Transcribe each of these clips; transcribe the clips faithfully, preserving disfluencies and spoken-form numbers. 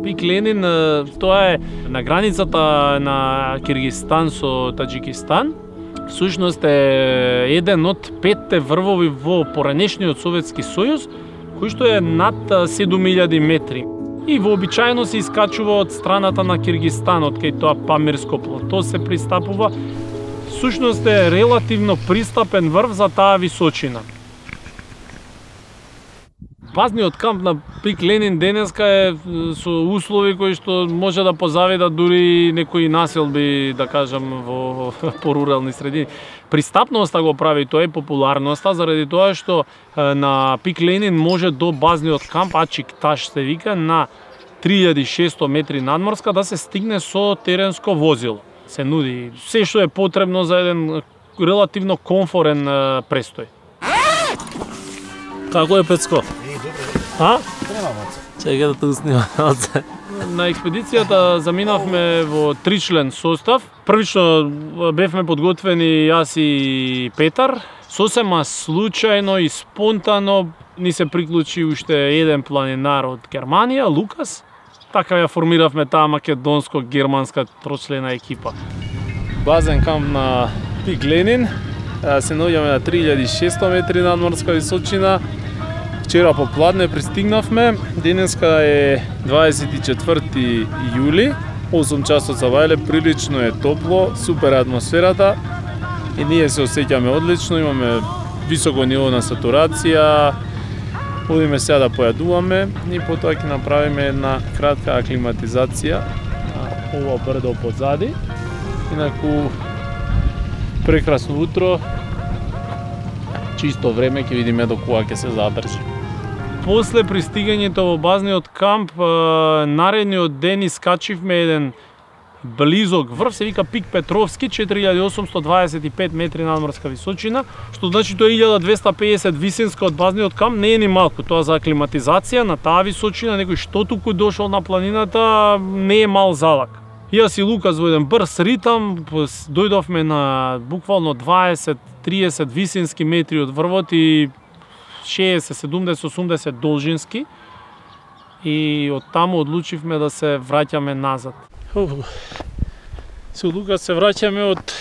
Пик Ленин, тоа е на границата на Киргизстан со Таџикистан. Всушност е еден од петте врвови во поранешниот Советски сојуз, кој што е над седум илјади метри. И вообичаено се искачува од страната на Киргизстан, од кај тоа Памирско плато се пристапува. Всушност е релативно пристапен врв за таа височина. Базниот камп на Пик Ленин денеска е со услови кои што може да позавидат дури некои населби, да кажам, во порурални средини. Пристапноста го прави тоа и популарноста, заради тоа што на Пик Ленин може до базниот камп Ачик-Таш се вика на три илјади и шесто метри надморска да се стигне со теренско возило. Се нуди се што е потребно за еден релативно комфорен престој. Како е, Пецко? А? Чекај да те уснимам. На експедицијата заминавме во тричлен состав. Првично бевме подготвени јас и Петар. Сосема случајно и спонтано ни се приклучи уште еден планинар од Германија, Лукас. Така ја формиравме таа македонско-германска трочлена екипа. Базен камп на Пик Ленин. Се наоѓаме на три илјади и шесто метри надморска височина. Вчера попладне пристигнавме. Денеска е дваесет и четврти јули. осум часот за вајле, прилично е топло, супер атмосферата. И ние се осеќаме одлично, имаме високо ниво на сатурација. Одиме сега да појадуваме и потоа ќе направиме една кратка аклиматизација на ова брдо позади. Инаку прекрасно утро, чисто време, ќе видиме до кога ќе се задржи. После пристигањето во базниот камп, наредниот ден искачивме еден близок врв, се вика Пик Петровски, четири илјади осумсто дваесет и пет метри надморска височина, што значи тоа е илјада двесте и педесет висинска од базниот камп, не е ни малку, тоа за аклиматизација на таа височина, некој што туку дошол на планината, не е мал залак. Јас и Лукас во еден брз ритам, дојдовме на буквално дваесет до триесет висински метри од врвот и шеесет, седумдесет, осумдесет должински. И од таму одлучивме да се враќаме назад. Со Лукас се враќаме од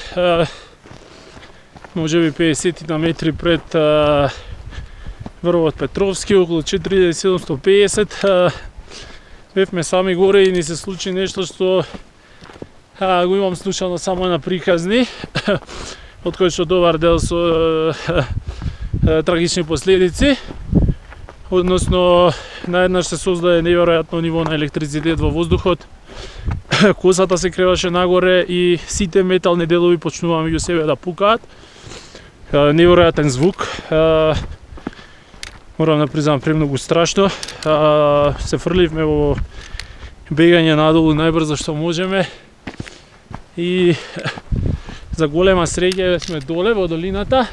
можеби педесет метри пред врвот Петровски, околу четири илјади седумсто и педесет. Бевме сами горе и ни се случи нешто што го имам слушано само на приказни, од кој што добар дел со трагични последици. Односно, наеднаш се создаде неверојатно ниво на електрицитет во воздухот. Косата се креваше нагоре и сите метални делови почнува меѓу себе да пукаат. Неверојатен звук. Морам да признам, премногу страшно. Се фрливме во бегање надолу најбрзо што можеме. И за голема среќа сме доле во долината.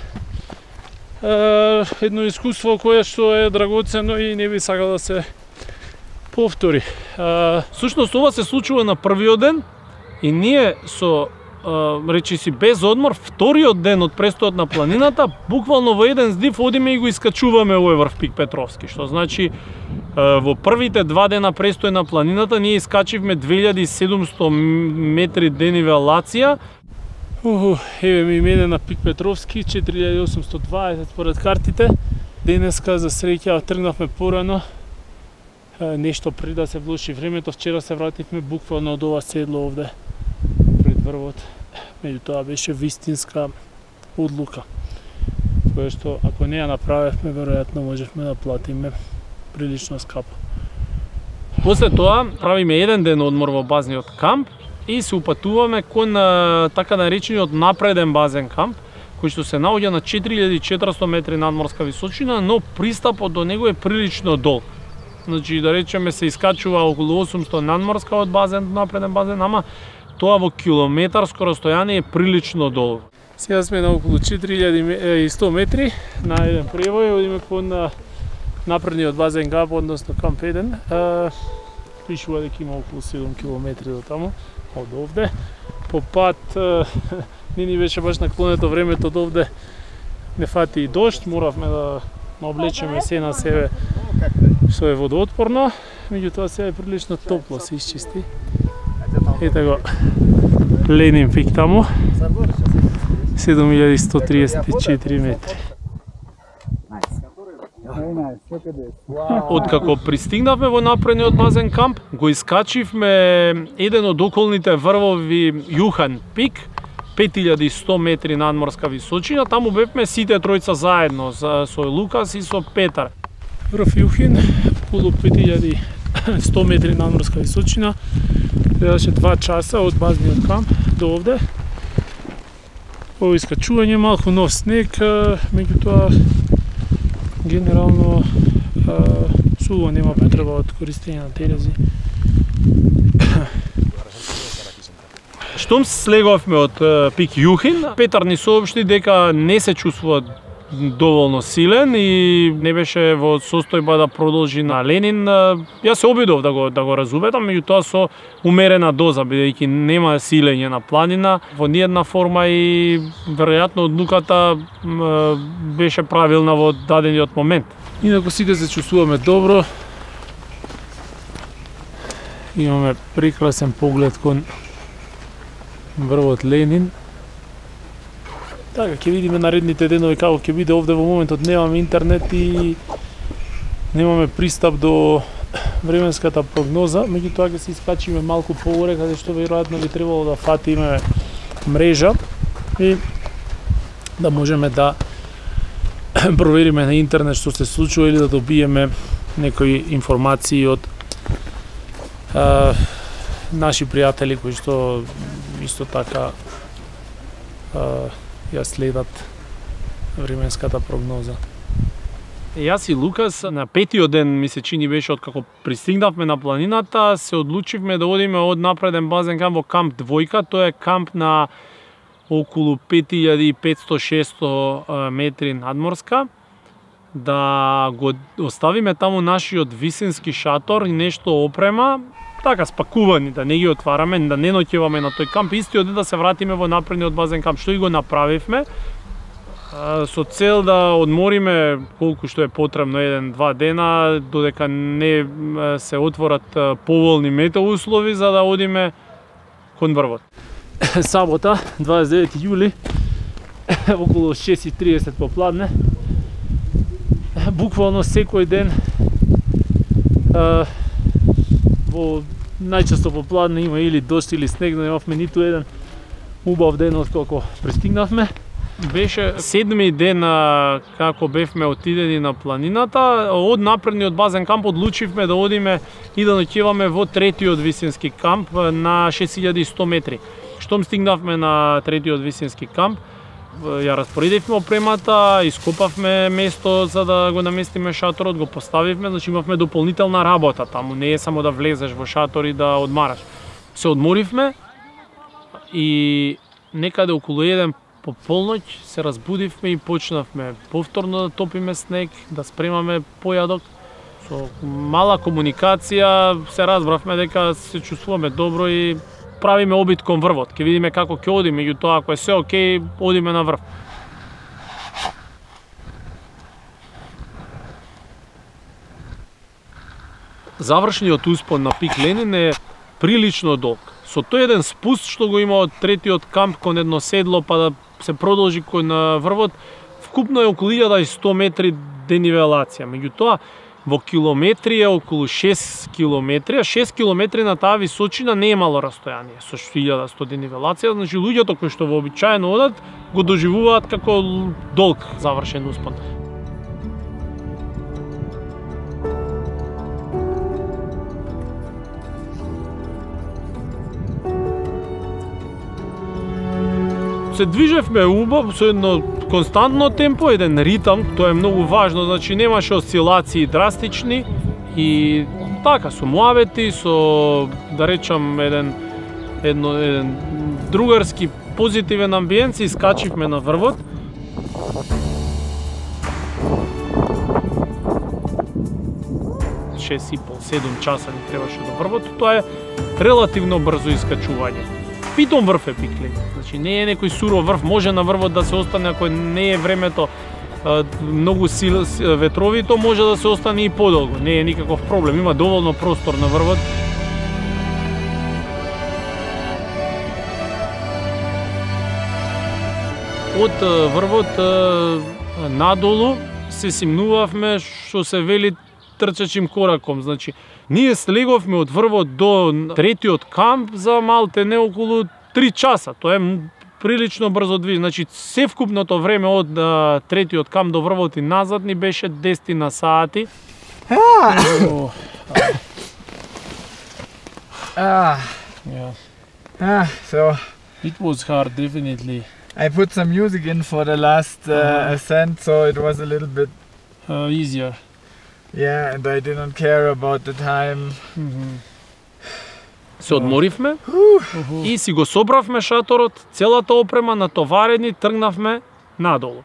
Едно искуство кое што е драгоцено и не би сакал да се повтори. Сушност ова се случува на првиот ден и ние со речи си без одмор вториот ден од престојот на планината буквално во еден здив одиме и го искачуваме овој врв Пик Петровски, што значи во првите два дена престој на планината ние искачивме две илјади и седумсто метри денивелација. Уху, еве ми мене на Пик Петровски, четири илјади осумсто дваесет според картите. Денеска за среќа тргнавме порано, нешто пред да се влоши времето. Вчера се вративме буквално од ова седло овде пред врвот. Меѓутоа беше вистинска одлука, која што ако не ја направевме, веројатно можевме да платиме прилично скапо. После тоа правиме еден ден одмор во базниот камп и се упатуваме кон така наречениот напреден базен камп, кој што се наоѓа на четири илјади и четиристо метри надморска височина, но пристапот до него е прилично долг. Значи, да речеме, се искачува околу осумсто надморска од базен, напреден базен, ама тоа во километарско растојание е прилично долго. Сега сме на околу четири илјади и сто метри на еден превој, одиме кон напредниот базен камп, односно камп еден. Пишува дека има околу седум километри до таму, од овде. По пат не ни беше баш наклонето времето од овде, не фати и дожд, моравме да облечеме се на себе што е водоотпорно. меѓутоа сега е прилично топло, се исчисти. Ете го Ленин пик таму, седум илјади сто триесет и четири метри. Откако пристигнавме во напредниот базен камп, го искачивме еден од околните врвови Јухан пик, пет илјади и сто метри надморска височина, таму бевме сите тројца заедно, со Лукас и со Петар. Врв Јухин, околу пет илјади и сто метри надморска височина, требаше два часа од базниот камп до овде. Ово искачување, малку нов снег, меѓутоа генерално сува, нема потреба од користење на терези. Штом слеговме од пик Јухин, Петар ни соопшти дека не се чувствува доволно силен и не беше во состојба да продолжи на Ленин. Јас се обидов да го да го разубедам, меѓутоа со умерена доза, бидејќи нема силење на планина во ниедна форма и веројатно одлуката беше правилна во дадениот момент. Инаку сите се чувствуваме добро. Имаме прекрасен поглед кон врвот Ленин. Така, ќе видиме наредните денови како ќе биде. Овде во моментот немаме интернет и немаме пристап до временската прогноза, меѓутоа ќе се искачиме малку погоре, каде што веројатно би требало да фатиме мрежа и да можеме да провериме на интернет што се случува или да добиеме некои информации од а, наши пријатели кои што исто така а, ја следат временската прогноза. Јас и Лукас на петиот ден, ми се чини беше откако пристигнавме на планината, се одлучивме да одиме од напреден базен камп во камп двојка. Тоа е камп на околу пет илјади и петсто до шесто метри надморска. Да го оставиме таму нашиот висински шатор и нешто опрема, така спакувани, да не ги отвараме, да не ноќеваме на тој камп, истиот ден да се вратиме во напредниот базен камп, што и го направивме, со цел да одмориме колку што е потребно, еден-два дена, додека не се отворат поволни метеоуслови, за да одиме кон врвот. Сабота, дваесет и девети јули, околу шест и тридесет попладне, буквално секој ден во најчесто попладне има или дожд или снег, но немавме ниту еден убав ден откако пристигнавме. Беше седми ден како бевме отидени на планината. Од напредниот базен камп одлучивме да одиме и да ноќеваме во третиот висински камп на шест илјади и сто метри. Штом стигнавме на третиот висински камп, ја распоредивме опремата, ископавме место за да го наместиме шаторот, го поставивме, значи имавме дополнителна работа таму, не е само да влезеш во шатор и да одмараш. Се одморивме и некаде околу еден по полноќ се разбудивме и почнавме повторно да топиме снег, да спремаме појадок. Со мала комуникација се разбравме дека се чувствуваме добро и правиме обид кон врвот. Ќе видиме како ќе одиме, меѓутоа ако е се окей, одиме на врв. Завршниот успон на пик Ленин е прилично долг. Со тој еден спуст што го има од третиот камп кон едно седло па да се продолжи кон врвот, вкупно е околу илјада и сто метри денивелација. Меѓутоа, во километри е околу шест километри, а шест километри на таа височина не е мало растојание. Со илјада и сто денивелација, значи луѓето кои што вообичаено одат, го доживуваат како долг завршен успон. Се движевме убав со едно константно темпо, еден ритам, тоа е многу важно, значи немаше осцилации драстични и така со муавети, со да речам еден едно еден другарски позитивен амбиент, се искачивме на врвот. шест и пол до седум часа ни требаше до врвот, тоа е релативно брзо искачување. Питом врв е пик Ленин, значи не е некој суров врв, може на врвот да се остане ако не е времето многу сил ветрови, то може да се остане и подолго. Не е никаков проблем, има доволно простор на врвот. Од врвот надолу се симнувавме што се вели трчачим кораком. Значи, ние слеговме од врвот до третиот камп за малте не околу три часа. Тоа е прилично брзо движ. Значи, севкупното време од а, третиот камп до врвот и назад ни беше десет на сати. Ah. Oh, Ah. yeah. Ah. So It was hard, definitely. I put some music in for the last uh, Uh-huh. ascent, so it was a little bit, Uh, easier. yeah, and I didn't care about the time. Mm-hmm. Се одморивме и си го собравме шаторот, целата опрема натоварени, тргнавме надолу.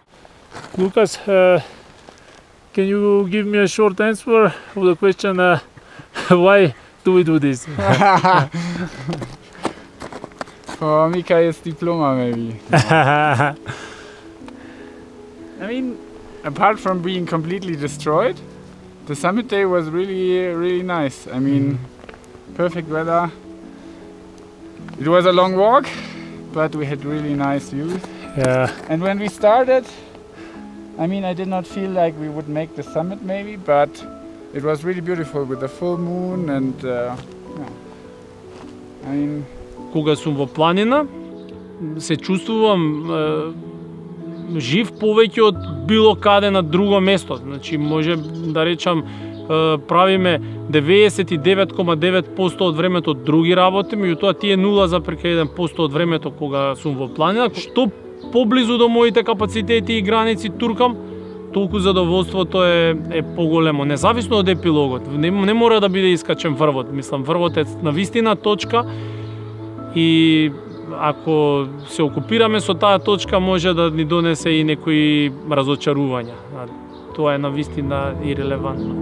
Lucas, uh, can you give me a short answer of the question uh, why do we do this? For Mikael's diploma, maybe. I mean, apart from being completely destroyed, the summit day was really, really nice. I mean, perfect weather. It was a long walk, but we had really nice views. Yeah. And when we started, I mean, I did not feel like we would make the summit maybe, but it was really beautiful with the full moon and uh, yeah. I mean, Кога сум во планина, се чувствувам е, жив повеќе од било каде на друго место. Значи, може да речам, е, правиме деветдесет и девет zarez девет проценти од времето други работи, меѓутоа тие нула зарез еден проценти од времето кога сум во планина, што поблизу до моите капацитети и граници туркам, толку задоволството е, е поголемо, независно од епилогот. Не, не мора да биде искачен врвот. Мислам, врвот е навистина точка и ако се окупираме со таа точка, може да ни донесе и некои разочарувања. Тоа е навистина ирелевантно.